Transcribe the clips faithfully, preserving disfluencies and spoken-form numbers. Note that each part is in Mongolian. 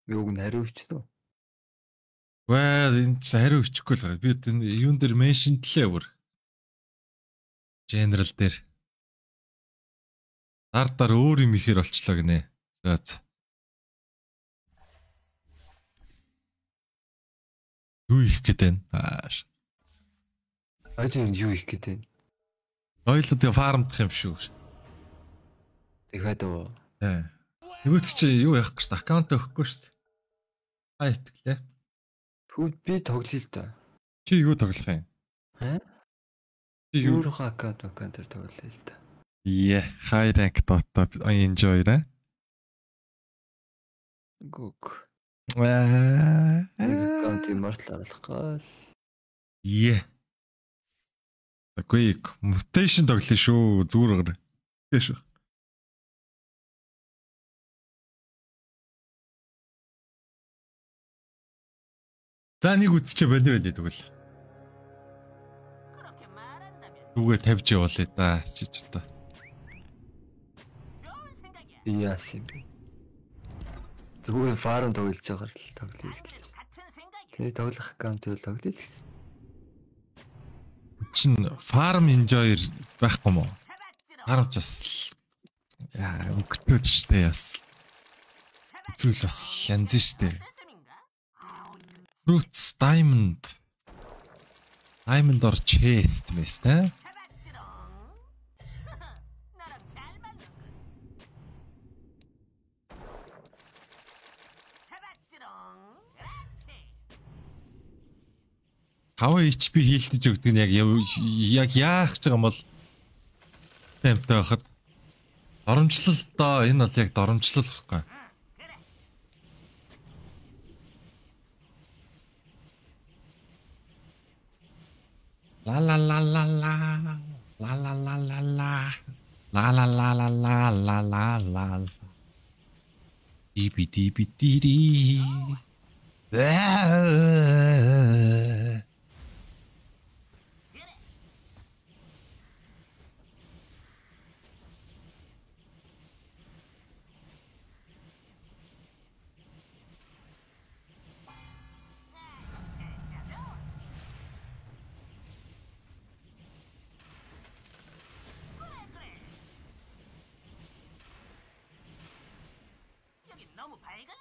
Юуг нь хариу өчтөө. Well, энэ ч хариу өчөхгүй л байгаа. Би энэ юун дээр меншнтлээ бүр. General дээр. Дар дар өөр юм ихээр болчлоо гинэ. За за. Юу их гэдэг вэ? Ааш. Ажин юу их гэдэг вэ? Ойлоо тэгээ фармдах юм шүү. Тэгэхэд оо. Э. Нөгөөд чи юу яах гэж аккаунт өгөхгүй шүү дээ. Аа итгэлээ. Тэгвэл би тоглоё л да. Чи юу тоглох юм? Аа? Чи юу Өөрийнхөө аккаунт аккаунтаар тоглоё л да. Yeah, high rank Dota I enjoy it. Гүг. Аа. Аккаунт immortal оруулах гал. Yeah. Окей, mutation тоглоё шүү. Зүгээр гэр. Тэш. За нэг үтсчээ болио байлээ тэгвэл. Түгээ тавьж явуулъя да чи ч та. Яасан бэ? Зүгээр фарм тоглож байгаа л тоглоё. Тэгээ тоглох аккаунт бол тоглоё л гэсэн. Чин farm enjoyer байхгүй мó? Farm ч бас яа өгтөөд штэ яс. Зүйл бас янз штэ. Fruits diamond. Diamond or chest мэс тэ? Хав эйч пи хийлдэж өгдөг нь яг яг яах гэж байгаа юм бол темптэй байхад доромжлол доо энэ бол яг доромжлол гэхгүй. La la la la la la la la la la la la la la la la la la Dibi dibi diri.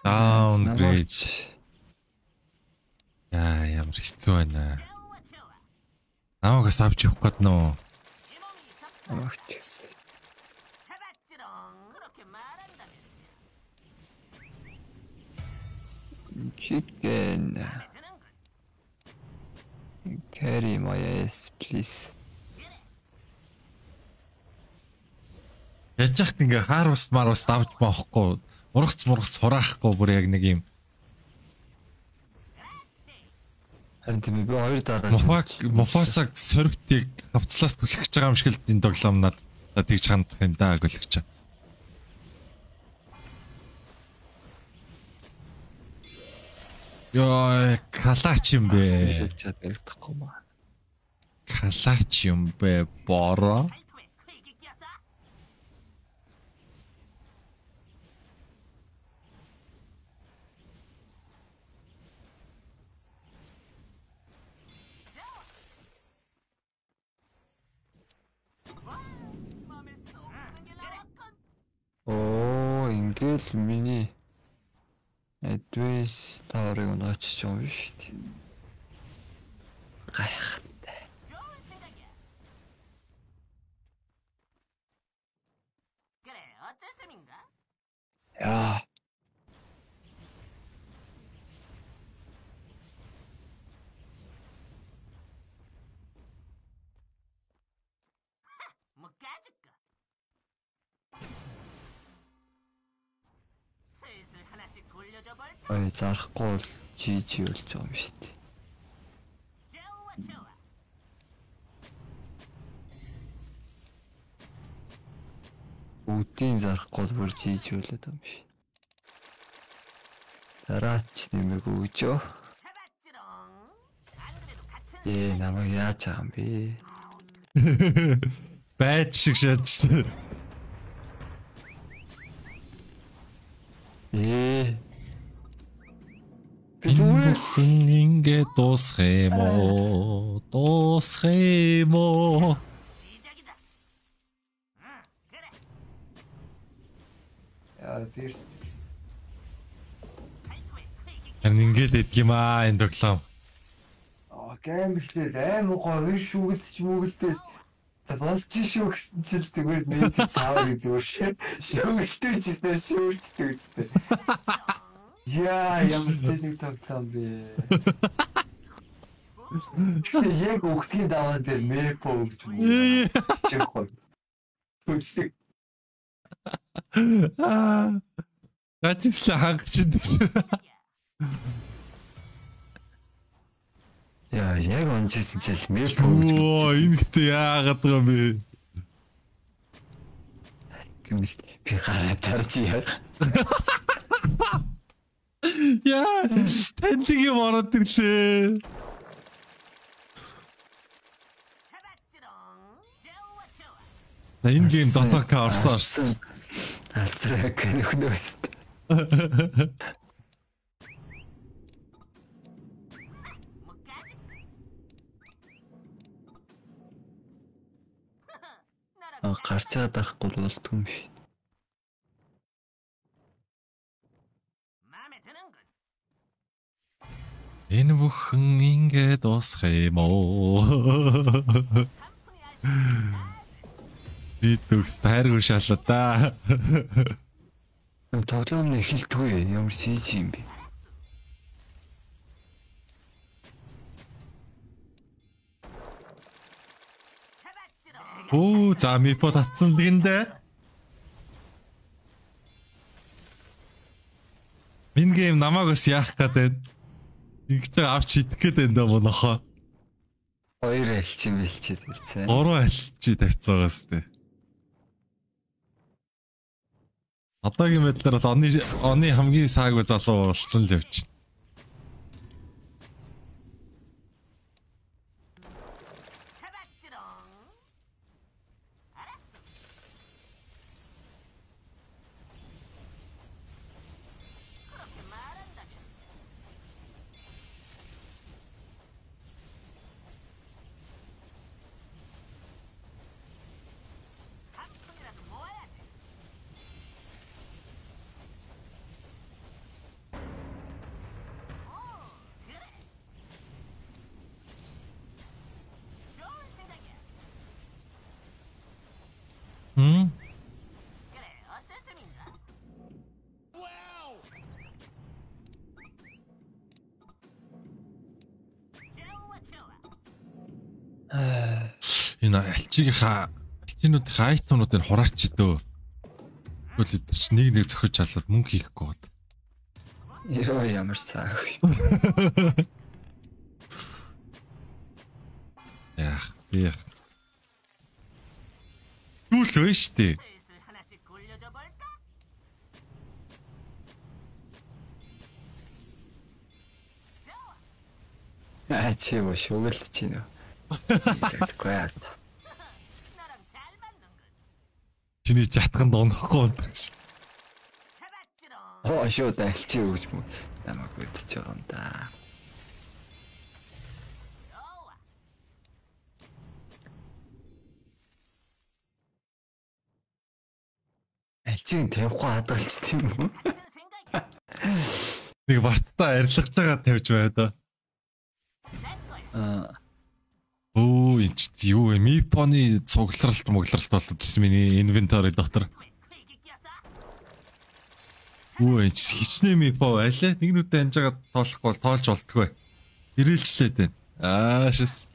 Downgrade. Яа, ямар хэцүү байна. Намайгаас авч явах гээд нөө. Ах чис. Chicken. Carry my ass, please. Яаж яхад ингээ харвст марвст авч боохгүй. Ургац мургац хураахгүй бүр яг нэг юм. Харин тийм би хоёр дараа Мофак Мофасаг сорвтыг хавцлаас түлхэж байгаа юм шиг л энэ тоглоом надад тэгж хандах юм даа гөлөгч. Ёо, калаач юм бэ? чад баригдахгүй маа. Калаач юм бэ? Бороо. Оо, ингээл миний Advice таврыг нөөчж байгаа юм шүү дээ. Гайхалтай. Яа. Ой, зарахгүй бол жи жи болж байгаа юм шүү дээ. Бүгдийн зарахгүй бол бүр жи жи болоод байгаа юм шүү. Дараач нэмэг өгчөө. Ээ, намайг яаж байгаа юм бэ? Байд шиг шаачсан. Ээ. Ингээ дуусах юм уу? Дуусах юм уу? Яа, тэрс тэрс. Харин ингээд идэх юм аа энэ тоглоом. Аа, гэмшлээ аим гоо шүүгэлдэж мүгэлдээ. За болж шүү гэсэн чил зүгээр нэг тавар зүгээр шүүгэлтэй ч гэсэн шүүжтэй үстэй. Яа, ямар тэнэг тоглоом бэ. Чи яг өгтгийн даваа дээр мэпо өгч мүү. Чихгүй. Түлэг. Аа. Гачигсаа хангачдаг. Яа, яг онжсэн чил мэпо өгч. Оо, энэ гэдэг яагаад байгаа юм бэ? Гэмс би гараа тарж яа. Яа, тэнцэг юм ороод ирлээ. Энэ гейм дотока орсон орсон. Алцраг нөхнөөс. А гарчаа дарахгүй болдгүй юм шиг. Энэ бүхэн ингэ дуусах юм уу? Би төгс тайргүй шалаа да. Тоглоом нь эхэлдэггүй ямар чийж юм бэ? Оо, за мипо татсан лгэндэ. Энэ гейм намайг бас яах гэдэг. Игч авч идэх гээд энэ монохоо. Хоёр альчин бэлчээд ирсэн. Гурван альчи тавьцаагаас тээ. Одоогийн байдлаар бол оны оны хамгийн саагүй залуу болсон л явж байна. Хм? Энэ альчигийнхаа альчинуудын айтонуудыг хураач дөө. Тэгвэл чи нэг нэг зөхөж чалаад мөнгө хийхгүй бод. Йоо ямар саагүй. Яах би яах. Юу л вэ штэ. Аа чи юу шүгэлж чинь. Тэгэхгүй яа. Чиний чатганд онохгүй юм шиг. Оо шууд альчи өгч мө. Намайг үдчихэж байгаа юм да. Альчиг тавихгүй хадгалж тийм үү? Нэг бартаа арилгаж байгаа тавьж байна. Аа. Оо, энэ юу вэ? Мипоны цугларалт мөглөрөлт болоод ирсэн миний инвентори дотор. Оо, энэ хичнээн мипо байлаа. Нэгнүүдэд анжаагаад тоолохгүй бол тоолж болтгүй. Ирээлжлээд байна. Аа, шээс.